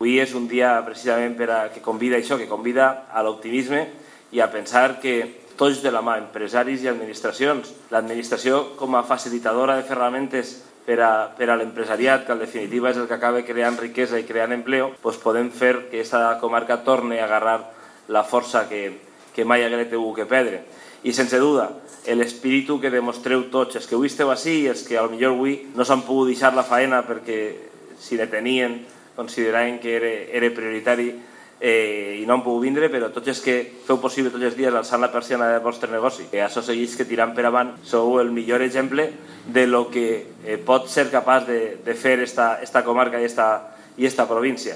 Avui és un dia precisament que convida això, que convida a l'optimisme i a pensar que tots de la mà, empresaris i administracions, l'administració com a facilitadora de ferramentes per a l'empresariat, que en definitiva és el que acaba creant riquesa i creant empleo, doncs podem fer que aquesta comarca torni a agarrar la força que mai haguera tingut que perdre. I sense duda, l'espíritu que demostreu tots, els que avui esteu així i els que potser avui no s'han pogut deixar la faena perquè si ne tenien consideraven que era prioritari i no han pogut vindre, però tots els que feu possible tots els dies alçant la persiana del vostre negoci, que això segueix que tirant per avant, sou el millor exemple de lo que pot ser capaç de fer esta comarca i esta província.